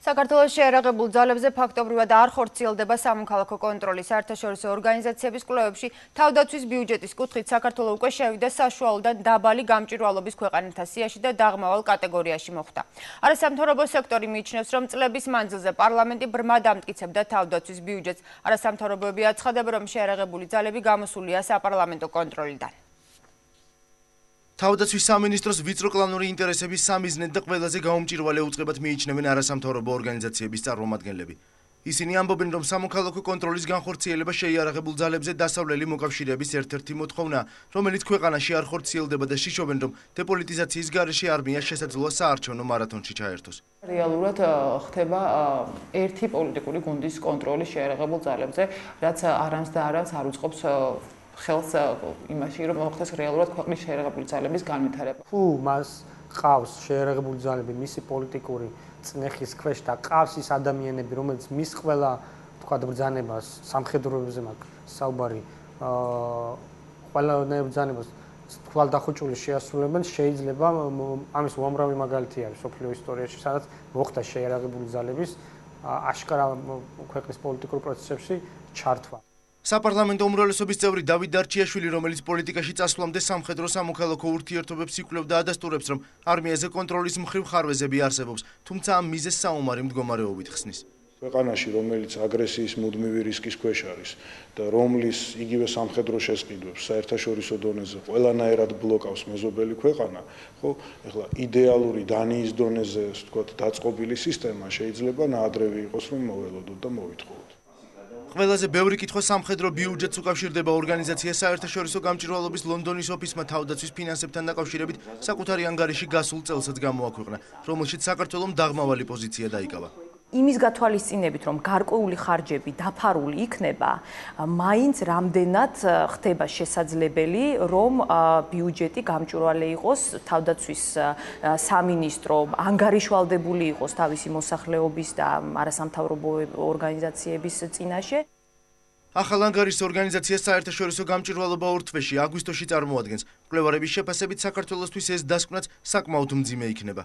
საქართველოს შეერაღებულ ძალებზე ფაქტობრივად არ ხორციელდება სამოქალაქო კონტროლი. საერთაშორისო ორგანიზაციების კვლევებში თავდაცვის ბიუჯეტის კუთხით საქართველო უკვე შევიდა საშუალოდან დაბალი გამჭვირვალობის ქვეყანათა სიაში და დაღმავალ კატეგორიაში მოხვდა. არასამთავრობო სექტორი მიიჩნევს, რომ წლების მანძილზე პარლამენტი ბრმად ამტკიცებდა თავდაცვის ბიუჯეტს. არასამთავრობოები აცხადებენ, რომ შეერაღებული ძალები გამოსულია საპარლამენტო კონტროლიდან. თავდაცვის სამინისტროს ვიწრო კლანური ინტერესების სამიზნედ და ყველაზე გაუმჭირვალე უწყებად მიიჩნევენ არასამთავრობო ორგანიზაციების წარმომადგენლები. ისინი ამბობენ, რომ სამოქალაქო კონტროლის განხორციელება შეიარაღებულ ძალებზე დასავლელი მოკავშირეების ერთ-ერთი მოთხოვნაა, რომელიც ქვეყანაში არ ხორციელდება და შიშობენ, რომ დეპოლიტიზაციის გარეშე არმიას შესაძლოა საარჩევნო მარათონში ჩაერთოს. რეალურად ხდება ერთი პოლიტიკური გუნდის კონტროლი შეიარაღებულ ძალებზე, რაც არამს და არამს არ უწყობს ხელს იმაში, რომ მოხდეს რეალურად ქვეყნის შეიარაღებული ძალების განვითარება. თუ მას ყავს შეიარაღებული ძალები, მისი პოლიტიკური წნეხის ქვეშ და ყავს ის ადამიანები, რომელიც მის ყველა თქვათ ბრძანებას სამხედროებზე მაქვს საუბარი, ყველანაირ ბრძანებას თვალდახოჭული შეასრულებენ, შეიძლება ამის უამრავი მაგალითი არის სოფლიო ისტორიაში, სადაც მოხდა შეიარაღებული ძალების აშკარა ქვეყნის პოლიტიკურ პროცესებში ჩართვა. საპარლამენტო უმრავლესობის წევრი დავით დარჩიაშვილი, რომელიც პოლიტიკაში წასვლამდე სამხედრო სამოქალაქო ურთიერთობებს იკვლევდა, ადასტურებს, რომ არმიაზე კონტროლის მხრივ ხარვეზები არსებობს, თუმცა ამ მიზეზს საომარი მდგომარეობით ხსნის. ქვეყანაში, რომელიც აგრესიის მუდმივი რისკის ქვეშ არის და რომლის იგივე სამხედრო შესყიდვებს საერთაშორისო დონეზე ყველანაირად ბლოკავს მეზობელი ქვეყანა, ხო, ეხლა იდეალური დანიის დონეზე, ვთქვათ, დაწყობილი სისტემა შეიძლება ნაადრევი იყოს, რომ მოველოდოთ და მოვითხოვოთ. ყველაზე ბევრი კითხვა სამხედრო ბიუჯეტს უკავშირდება ორგანიზაცია საერთაშორისო გამჭვირვალობის ლონდონის ოფისმა თავდაცვის ფინანსებთან დაკავშირებით საკუთარი ანგარიში გასულ წელსაც გამოაქვეყნა, რომელშიც საქართველომ დაღმავალი პოზიცია დაიკავა. იმის გათვალისწინებით, რომ გარკვეული ხარჯები დაფარული იქნება, მაინც რამდენად ხდება შესაძლებელი, რომ ბიუჯეტი გამჭვირვალე იყოს, თავდაცვის სამინისტრო ანგარიშვალდებული იყოს თავისი მოსახლეობის და არასამთავრობო ორგანიზაციების წინაშე. ახალ ანგარიშს ორგანიზაციას საერთაშორისო გამჭვირვალობა ორ თვეში, აგვისტოში წარმოადგენს. მკვლევარების შეფასებით საქართველოსთვის ეს დასკვნაც საკმაოდ მძიმე იქნება.